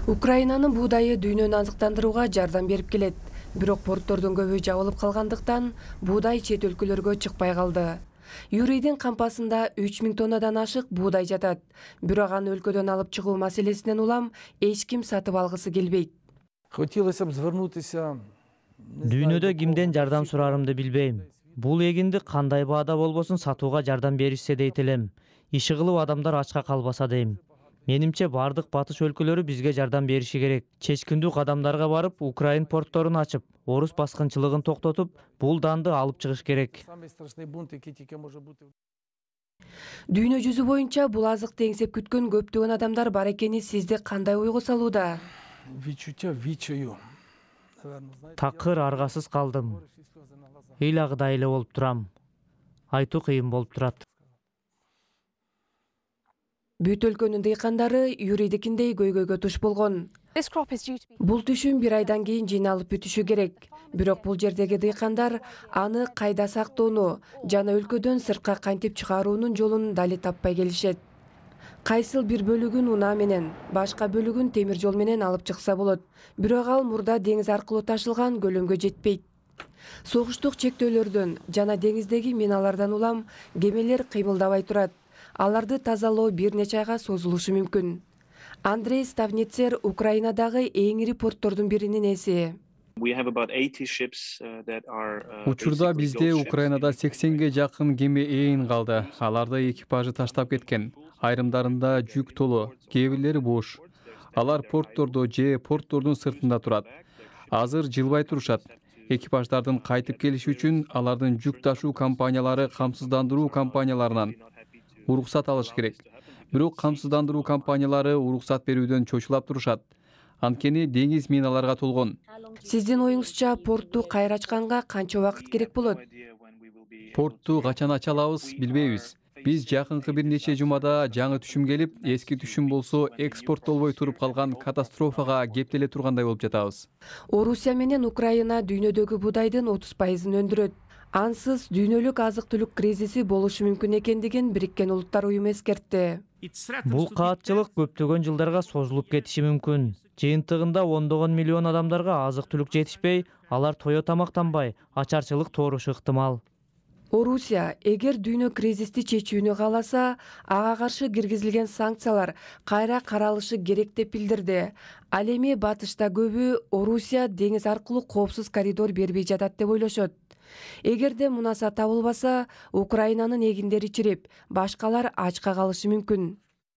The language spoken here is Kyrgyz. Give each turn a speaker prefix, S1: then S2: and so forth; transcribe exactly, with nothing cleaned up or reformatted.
S1: Украинанын буудайы дүйнөнү азыктандырууга жардам берип келет. Бирок порттордун көбү жабылып калгандыктан буудай чет өлкөлөргө чыкпай калды. Юрийдин кампасында үч миң тоннадан ашык буудай жатат. Бирок аны өлкөдөн алып чыгуу маселесинен улам эч ким сатып алгысы келбейт.
S2: Дүйнөдө кимден жардам сурарымды билбейм. Бул эгинди кандай баада болбосун сатууга жардам беришсе дейт элем. Иши кылып адамдар ачка калбаса дейм. Менимче бардык батыш өлкөлөрү бизге жардам бериши керек. Чечкиндүү кадамдарга барып, Украин портторун ачып, орус баскынчылыгын токтотуп, бул данды алып чыгыш керек.
S1: Дүйнө жүзү боюнча бул азыкты эңсеп күткөн көптөгөн адамдар бар экени сизди кандай ойго салууда?
S2: Такыр аргасыз калдым. Ыйлагыдай эле болуп турам. Айтуу кыйын болуп турат.
S1: Бүт өлкөнүн дыйкандары Юрийдикиндей көйгөйгө туш болгон. Бул түшүм бир айдан кийин жыйналып бүтүшү керек. Бирок бул жердеги дыйкандар аны кайда сактоону жана өлкөдөн сыртка кантип чыгаруунун жолун дали таппай келишет. Кайсыл бир бөлүгүн унаа менен, башка бөлүгүн темир жол менен алып чыкса болот. Бирок ал мурда деңиз аркылуу ташылган көлөмгө жетпейт. Согуштук чектөөлөрдөн жана деңиздеги миналардан улам кемелер кыймылдабай турат. Аларды тазалоо бир нече айга созулушу мүмкүн. Андрей Ставницер Украинадагы эң ири порттордун биринин ээси.
S3: Учурда бизде Украинада сексенге жакын кеме ээн калды. Аларды экипажы таштап кеткен. Айрымдарында жүк толу, кээ бирлери бош. Алар порттордо же порттордун сыртында турат. Азыр жылбай турушат. Экипаждардын кайтып келиши үчүн алардын жүк ташуу компаниялары камсыздандыруу компанияларынан уруксат алыш керек. Бирок камсыздандыруу компаниялары уруксат берүүдөн чочулап турушат. Анткени деңиз миналарга толгон.
S1: Сиздин оюңузча портту кайра ачканга канча убакыт керек болот?
S3: Портту качан ача алабыз билбейбиз. Биз жакынкы бир нече жумада жаңы түшүм келип, эски түшүм болсо экспорттолбой туруп калган катастрофага кептеле тургандай болуп жатабыз.
S1: Орусия менен Украина дүйнөдөгү буудайдын отуз пайызын өндүрөт. Ансыз дүйнөлүк азык-түлүк кризиси болушу мүмкүн экендигин Бириккен Улуттар уюму эскертти.
S2: Бул каатчылык көптөгөн жылдарга созулуп кетиши мүмкүн. Жыйынтыгында ондогон миллион адамдарга азык-түлүк жетишпей, алар тое тамактанбай, ачарчылык туурушу ыктымал.
S1: Орусия эгер дүйнө кризисти чечүүнү кааласа, ага каршы киргизилген санкциялар кайра каралышы керек деп билдирди. Ал эми батышта көбү Орусия деңиз аркылуу коопсуз коридор бербей жатат деп ойлошот. Эгерде мунаса табылбаса, Украинанын эгиндери чирип, башкалар ачка калышы мүмкүн.